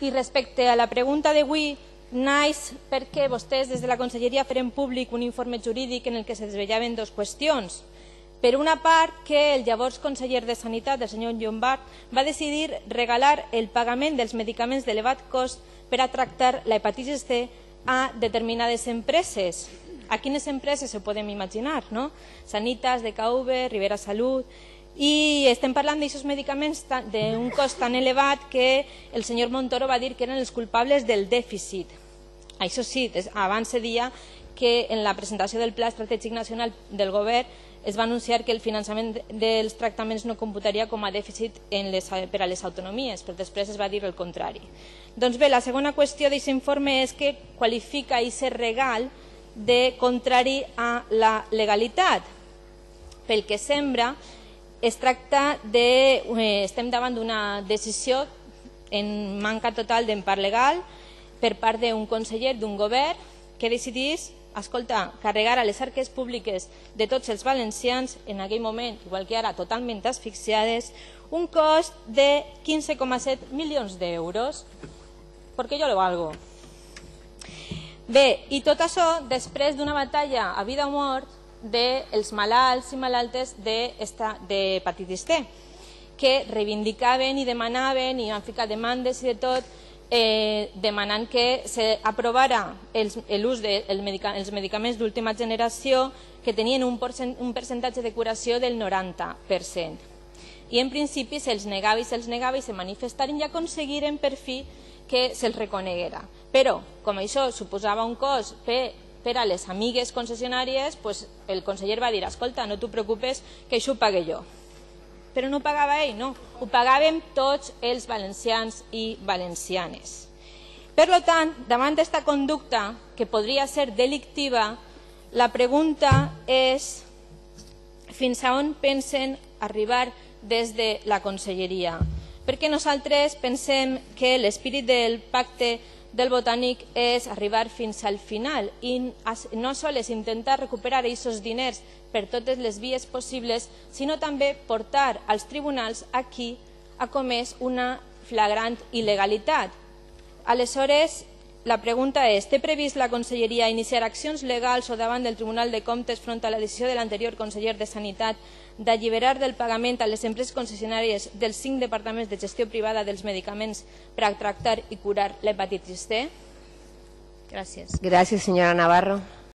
I respecte a la pregunta d'avui, naix perquè vostès des de la Conselleria feren públic un informe jurídic en el que se desvetllaven dues qüestions. Per una part, que el llavors conseller de Sanitat, el senyor Llombart, va decidir regalar el pagament dels medicaments d'elevat cost per a tractar la hepatitis C a determinades empreses. A quines empreses ho podem imaginar, no? Sanitas, DKV, Rivera Salut. I estem parlant d'aquests medicaments d'un cost tan elevat que el senyor Montoro va dir que eren els culpables del dèficit. Això sí, abans se deia que en la presentació del Pla Estratègic Nacional del Govern es va anunciar que el finançament dels tractaments no computaria com a dèficit per a les autonomies, però després es va dir el contrari. Doncs bé, la segona qüestió d'aquest informe és que qualifica aquest regal de contrari a la legalitat. Pel que sembla, estem davant d'una decisió en manca total d'empart legal per part d'un conseller d'un govern que decidís carregar a les arques públiques de tots els valencians, en aquell moment, igual que ara, totalment asfixiades, un cost de 15,7 milions d'euros. Perquè jo lo valgo. Bé, i tot això després d'una batalla a vida o mort dels malalts i malaltes d'hepatitis C, que reivindicaven i demanaven i van ficar demandes i de tot, demanant que s'aprovara l'ús dels medicaments d'última generació que tenien un percentatge de curació del 90%. I en principi se'ls negava i se manifestaren i aconseguiren per fi que se'ls reconeguera. Però, com això suposava un cost per a les amigues concessionàries, el conseller va dir, escolta, no t'ho preocupes, que això ho pague jo. Però no ho pagava ell, no, ho pagàvem tots els valencians i valencianes. Per tant, davant d'esta conducta, que podria ser delictiva, la pregunta és fins a on pensen arribar des de la Conselleria. Perquè nosaltres pensem que l'espírit del pacte del Botànic és arribar fins al final i no sols intentar recuperar aquests diners per totes les vies possibles, sinó també portar als tribunals a qui ha comès una flagrant il·legalitat. Aleshores, la pregunta és, té previst la Conselleria iniciar accions legals o davant del Tribunal de Comptes front a la decisió de l'anterior conseller de Sanitat d'alliberar del pagament a les empreses concessionàries dels 5 departaments de gestió privada dels medicaments per a tractar i curar l'hepatitis C? Gràcies. Gràcies, senyora Navarro.